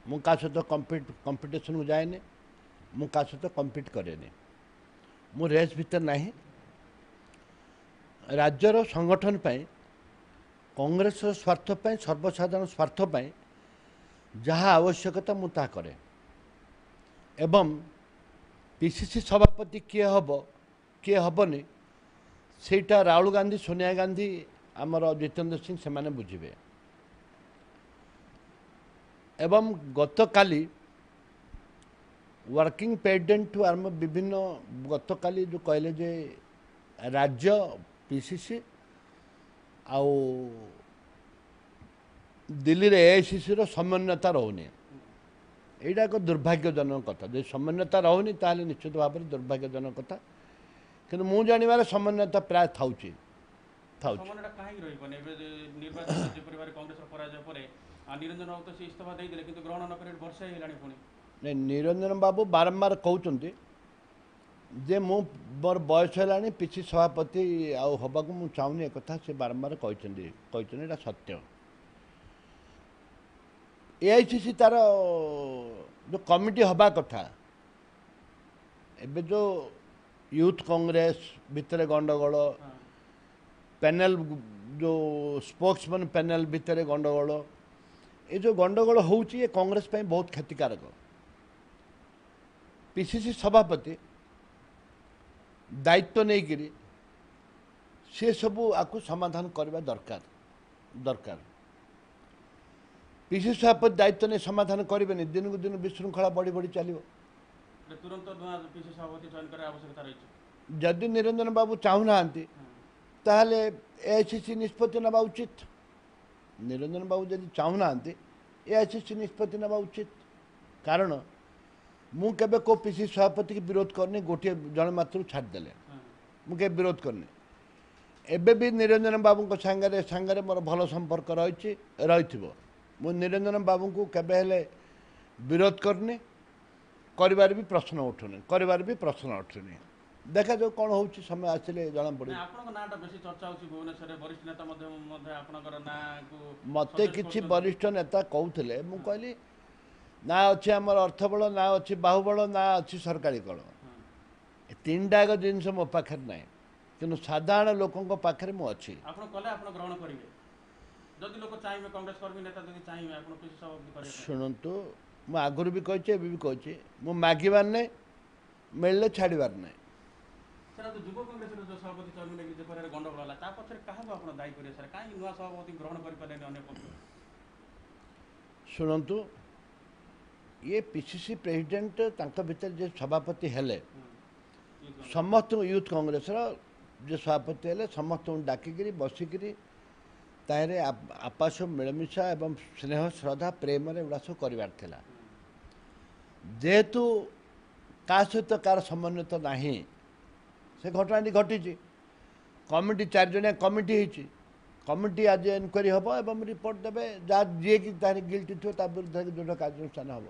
ମୁଁ କାହା ସହିତ କମ୍ପିଟିସନ୍କୁ ଯାଏନି, ମୁଁ କାହା ସହିତ କମ୍ପିଟ୍ କରେନି, ମୁଁ ରେସ୍ ଭିତରେ ନାହିଁ। ରାଜ୍ୟର ସଂଗଠନ ପାଇଁ, କଂଗ୍ରେସର ସ୍ୱାର୍ଥ ପାଇଁ, ସର୍ବସାଧାରଣ ସ୍ୱାର୍ଥ ପାଇଁ ଯାହା ଆବଶ୍ୟକତା ମୁଁ ତାହା କରେ। ଏବଂ ପିସିସି ସଭାପତି କିଏ ହେବ କିଏ ହେବନି ସେଇଟା ରାହୁଲ ଗାନ୍ଧୀ, ସୋନିଆ ଗାନ୍ଧୀ, ଆମର ଜିତେନ୍ଦ୍ର ସିଂ ସେମାନେ ବୁଝିବେ। ଏବଂ ଗତକାଲି ୱାର୍କିଂ ପ୍ରେସିଡେଣ୍ଟଠୁ ଆରମ୍ଭ ବିଭିନ୍ନ, ଗତକାଲି ଯେଉଁ କହିଲେ ଯେ ରାଜ୍ୟ ପିସିସି ଆଉ ଦିଲ୍ଲୀରେ ଏଆଇସିସିର ସମନ୍ୱୟତା ରହୁନି, ଏଇଟା ଏକ ଦୁର୍ଭାଗ୍ୟଜନକ କଥା। ଯଦି ସମନ୍ୱୟତା ରହୁନି ତାହେଲେ ନିଶ୍ଚିତ ଭାବରେ ଦୁର୍ଭାଗ୍ୟଜନକ କଥା। କିନ୍ତୁ ମୁଁ ଜାଣିବାରେ ସମନ୍ୱୟତା ପ୍ରାୟ ଥାଉଛି। ସମନ୍ୱୟଟା କାହିଁକି ରହିବନି? ଏବେ ନିର୍ବାଚନ ଯେପରି ଭାବରେ କଂଗ୍ରେସର ପରାଜୟ ପରେ ନିରଞ୍ଜନ ବାବୁ ତ ସେ ଇସ୍ତଫା ଦେଇଦେଲେ, କିନ୍ତୁ ଗ୍ରହଣ ନ କରି ବର୍ଷେ ହେଇଗଲାଣି ପୁଣି। ନାଇଁ, ନିରଞ୍ଜନ ବାବୁ ବାରମ୍ବାର କହୁଛନ୍ତି ଯେ ମୁଁ ମୋର ବୟସ ହେଲାଣି, ପିସି ସଭାପତି ଆଉ ହେବାକୁ ମୁଁ ଚାହୁଁନି। ଏକଥା ସେ ବାରମ୍ବାର କହିଛନ୍ତି, ଏଇଟା ସତ୍ୟ। ଏଆଇସିସି ତାର ଯେଉଁ କମିଟି ହେବା କଥା, ଏବେ ଯେଉଁ ୟୁଥ୍ କଂଗ୍ରେସ ଭିତରେ ଗଣ୍ଡଗୋଳ, ପ୍ୟାନେଲ ଯେଉଁ ସ୍ପୋକ୍ସମ୍ୟାନ୍ ପ୍ୟାନେଲ ଭିତରେ ଗଣ୍ଡଗୋଳ, ଏ ଯେଉଁ ଗଣ୍ଡଗୋଳ ହେଉଛି ଏ କଂଗ୍ରେସ ପାଇଁ ବହୁତ କ୍ଷତିକାରକ। ପିସିସି ସଭାପତି ଦାୟିତ୍ୱ ନେଇକରି ସେ ସବୁ ଆକୁ ସମାଧାନ କରିବା ଦରକାର। ପିସିସି ସଭାପତି ଦାୟିତ୍ୱ ନେଇ ସମାଧାନ କରିବେନି, ଦିନକୁ ଦିନ ବିଶୃଙ୍ଖଳା ବଢ଼ି ବଢ଼ି ଚାଲିବ। ତୁରନ୍ତ ନୂଆ ପିସିସି ସଭାପତି ଚୟନ କରିବା ଆବଶ୍ୟକତା ରହିଛି। ଯଦି ନିରଞ୍ଜନ ବାବୁ ଚାହୁଁନାହାନ୍ତି ତାହେଲେ ଏଆଇସିସି ନିଷ୍ପତ୍ତି ନେବା ଉଚିତ। ନିରଞ୍ଜନ ବାବୁ ଯଦି ଚାହୁଁନାହାନ୍ତି ଏଆଇସିସି ନିଷ୍ପତ୍ତି ନେବା ଉଚିତ। କାରଣ ମୁଁ କେବେ କେଉଁ ପିସିସି ସଭାପତିକି ବିରୋଧ କରିନି, ଗୋଟିଏ ଜଣେ ମାତ୍ର ଛାଡ଼ିଦେଲେ ମୁଁ କେବେ ବିରୋଧ କରିନି। ଏବେ ବି ନିରଞ୍ଜନ ବାବୁଙ୍କ ସାଙ୍ଗରେ ମୋର ଭଲ ସମ୍ପର୍କ ରହିଛି, ରହିଥିବ। ମୁଁ ନିରଞ୍ଜନ ବାବୁଙ୍କୁ କେବେ ହେଲେ ବିରୋଧ କରିନି, କରିବାର ବି ପ୍ରଶ୍ନ ଉଠୁନି, ଦେଖାଯାଉ କ'ଣ ହେଉଛି, ସମୟ ଆସିଲେ ଜଣାପଡ଼ିବ। ଆପଣଙ୍କ ନାଁଟା ବେଶୀ ଚର୍ଚ୍ଚା ହେଉଛି ଭୁବନେଶ୍ୱରରେ, ବରିଷ୍ଠ ନେତା ମଧ୍ୟ ଆପଣଙ୍କର ନାଁକୁ ମୋତେ କିଛି ବରିଷ୍ଠ ନେତା କହୁଥିଲେ, ମୁଁ କହିଲି ନା ଅଛି ଆମର ଅର୍ଥବଳ, ନା ଅଛି ବାହୁବଳ, ନା ଅଛି ସରକାରୀ କଳ, ଏ ତିନିଟା ଯାକ ଜିନିଷ ମୋ ପାଖରେ ନାହିଁ, କିନ୍ତୁ ସାଧାରଣ ଲୋକଙ୍କ ପାଖରେ ମୁଁ ଅଛି। ଆପଣ କଲେ ଆପଣ ଗ୍ରହଣ କରିବେ ଯଦି ଲୋକ ଚାହିଁବେ, କଂଗ୍ରେସ କର୍ମୀ ନେତା ଯଦି ଚାହିଁବେ ଆପଣ ପିସିସି ସଭାପତି କରିବେ? ଶୁଣନ୍ତୁ, ମୁଁ ଆଗରୁ ବି କହିଛି, ଏବେ ବି କହିଛି, ମୁଁ ମାଗିବାର ନାହିଁ, ମିଳିଲେ ଛାଡ଼ିବାର ନାହିଁ। ସାର୍, ଯୁବ କଂଗ୍ରେସର ଯେଉଁ ସଭାପତି ଚୟନ ନେଇକି ଯେପରି ଗଣ୍ଡଗୋଳ ହେଲା, ତା ପଛରେ କାହାକୁ ଆପଣ ଦାୟୀ କରିବେ ସାର୍? କାହିଁକି ନୂଆ ସଭାପତି ଗ୍ରହଣ କରିପାରିଲେନି ଅନ୍ୟ ପକ୍ଷ? ଶୁଣନ୍ତୁ, ଇଏ ପିସିସି ପ୍ରେସିଡେଣ୍ଟ ତାଙ୍କ ଭିତରେ ଯେ ସଭାପତି ହେଲେ ସମସ୍ତଙ୍କୁ, ୟୁଥ୍ କଂଗ୍ରେସର ଯେ ସଭାପତି ହେଲେ ସମସ୍ତଙ୍କୁ ଡାକିକିରି ବସିକିରି ତାହିଁରେ ଆପସ ମିଳମିଶା ଏବଂ ସ୍ନେହ ଶ୍ରଦ୍ଧା ପ୍ରେମରେ ଏଗୁଡ଼ା ସବୁ କରିବାର ଥିଲା। ଯେହେତୁ କାହା ସହିତ କାହାର ସମନ୍ୱିତ ନାହିଁ, ସେ ଘଟଣାଟି ଘଟିଛି। କମିଟି 4 ଜଣିଆ କମିଟି ହେଇଛି, କମିଟି ଆଜି ଏନକ୍ୱାରି ହେବ ଏବଂ ରିପୋର୍ଟ ଦେବେ, ଯାହା ଯିଏକି ତାହିଁରେ ଗିଲ୍ଟି ଥିବ ତା ବିରୁଦ୍ଧରେ ଦୃଢ଼ କାର୍ଯ୍ୟାନୁଷ୍ଠାନ ହେବ।